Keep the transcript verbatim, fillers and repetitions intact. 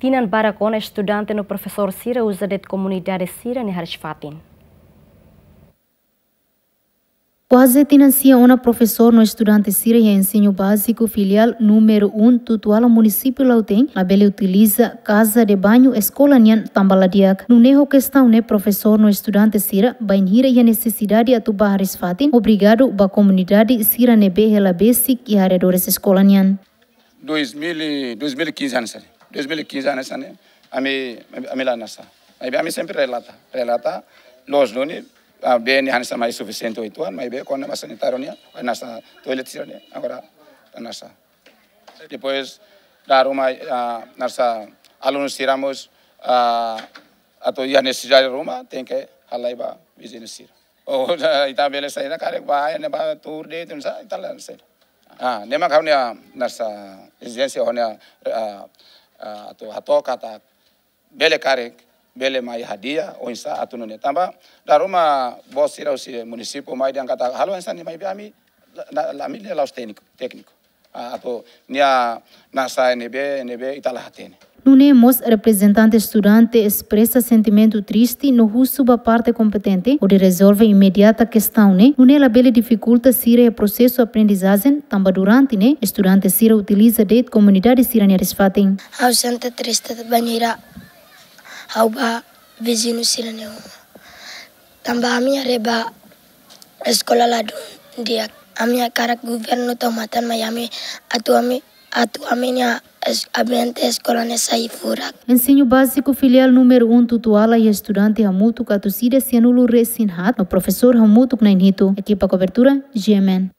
Tinan barak ona estudante no profesór sira uza de'it komunidade sira-nia hariis-fatin. Kuaze tinan sia ona profesór no estudante sira iha Ensinu Báziku Filiál númeru um Tutuala, munisípiu Lautém, labele utiliza kaza de bañu eskola nian tanba la di'ak. Nune'e ho kestaun ne'e profesór no estudante sira bainhira iha nesesidade atu bá hariis-fatin, obrigadu ba komunidade sira ne'ebé hela besik iha arredores eskola nian. Dois mil e, dois mil e quinze hanesan ne'e. Dois mil e quinze hanesan ne'e. Ami, ami la hanesan. Maibé ami sempre relata, relata. Loos duni, ah, bee ne'e hanesan mai sufisiente oituan, maibé kona-ba sanitáriu nian, hanesan toilet sira-ne'e, agora hanesan. Depois, dala ruma, ah, hanesan alunu sira mós, ah, atu iha nesesidade ruma, tenke halai ba viziñu sira. Oh, ita bele saida karik ba, ne'ebá tuur de'it, hanesan, ita la saida. Ah, ne'e mak ha'u-nia hanesan ezijénsia ha'u-nia, ah, ah, atu hato'o katak bele karik, bele mai hadi'a, oinsá atu nune'e. Tanba, dala ruma bos sira husi munisípiu mai dehan katak halo hanesan ne'e, maibé ami, la, la, la, ami la'ós tékniku, tékniku. Ah, atu nia hanesan ne'ebé, ne'ebé ita la hatene. Nune'e mós reprezentante estudante espresa sentimentu triste no husu ba parte kompetente hodi rezolve imediata kestaun ne'e, nune'e labele difikulta sira iha prosesu aprendizajen, tanba durante ne'e estudante sira utiliza de'it komunidade sira-nia hariis-fatin. Ha'u sente triste bainhira ha'u bá viziñu sira-nia uma. Tanba ami haree ba eskola ladún di'ak. Ami hakarak governu tau matan mai ami atu ami, atu ami-nia es-, ambiente eskola ne'e sai furak. Ensinu Báziku Filiál númeru um Tutuala iha estudante hamutuk atus ida sianulu resin haat, no profesór hamutuk na'in hitu. Ekipa kobertura, G M N.